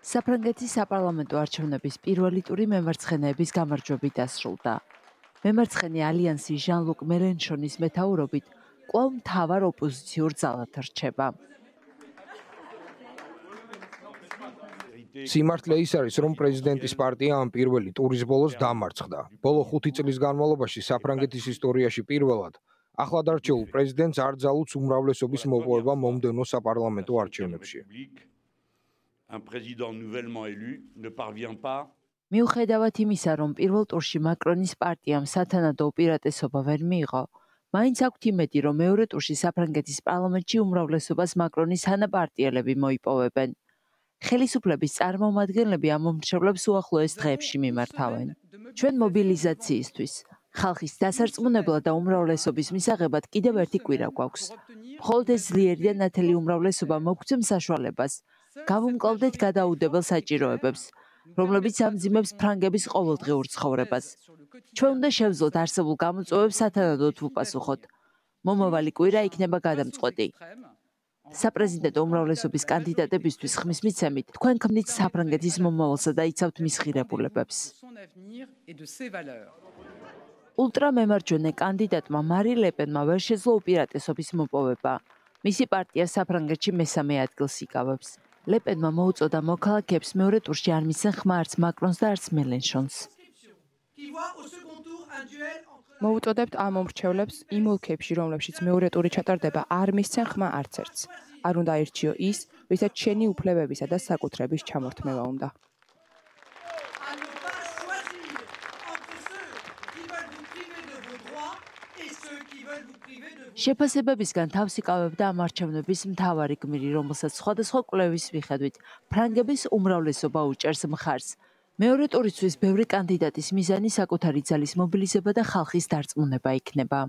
საფრანგეთის საპარლამენტო არჩევნების პირველი ტური მემარცხენეების გამარჯვებით დასრულდა. მემარცხენე ალიანსი ჟან-ლუკ მელენშონის მეთაურობით კვლავ მთავარ ოპოზიციურ ძალად რჩება. სიმართლე ის არის, რომ პრეზიდენტის პარტია ამ პირველი ტურის ბოლოს დამარცხდა. ბოლო 5 წლის განმავლობაში საფრანგეთის ისტორიაში პირველად ახლადარჩეულ პრეზიდენტს არ ძალუძს უმრავლესობის მოპოვება მომდევნო საპარლამენტო არჩევნებში. მიუხედავად იმისა, რომ პირველ ტურში მაკრონის პარტიამ სათანადო უპირატესობა ვერ მიიღო, მაინც აქვთ იმედი, რომ მეორე ტურში საფრანგეთის პარლამენტში უმრავლესობას მაკრონის თანაპარტიელები მოიპოვებენ. ხელისუფლების წარმომადგენლები ამ მომრჩევლებს უახლოეს დღეებში მიმართავენ. ჩვენ მობილიზაციისთვის, ხალხის დასარწმუნებლად და უმრავლესობის მისაღებად კიდევ ერთი კვირა გვაქვს. მხოლოდ ეს ძლიერი და ნათელი უმრავლესობა მოგცემ საშუალებას გავუმკლავდეთ გადაუდებელ საჭიროებებს, რომლებიც ამძიმებს ფრანგების ყოველდღიურ ცხოვრებას. ჩვენ უნდა შევძლოთ არსებულ გამოწვევებს სათანადოდ ვუპასუხოთ. მომავალი კვირა იქნება გადამწყვეტი. საპრეზიდენტო უმრავლესობის კანდიდატებისთვის ხმის მიცემით, თქვენ ქმნით საფრანგეთის მომავალსა და იცავთ მის ღირებულებებს. ულტრამემარჯვენე კანდიდატმა მარი ლეპენმა ვერ შეძლო უპირატესობის მოპოვება. მისი პარტია საფრანგეთში მესამე ადგილს იკავებს. ლეპენმა მოუწოდა მოქალაქეებს მეორე ტურში არ მისცენ ხმა არც მაკრონს და არც მელენშონს. მოუწოდებთ ამ მომრჩევლებს იმ ოლქებში, რომლებშიც მეორე ტური ჩატარდება, არ მისცენ ხმა არც ერთს. არ უნდა ირჩიო ის, ვისაც შენი უფლებებისა და საკუთრების ჩამორთმევა უნდა. შეფასებებისგან თავს იკავებდა ამ არჩევნების მთავარი გმირი, რომელსაც სხვადასხვა კვლევის მიხედვით ფრანგების უმრავლესობა უჭერს მხარს. მეორე ტურისთვის ბევრი კანდიდატის მიზანი საკუთარი ძალის მობილიზება და ხალხის დარწმუნება იქნება.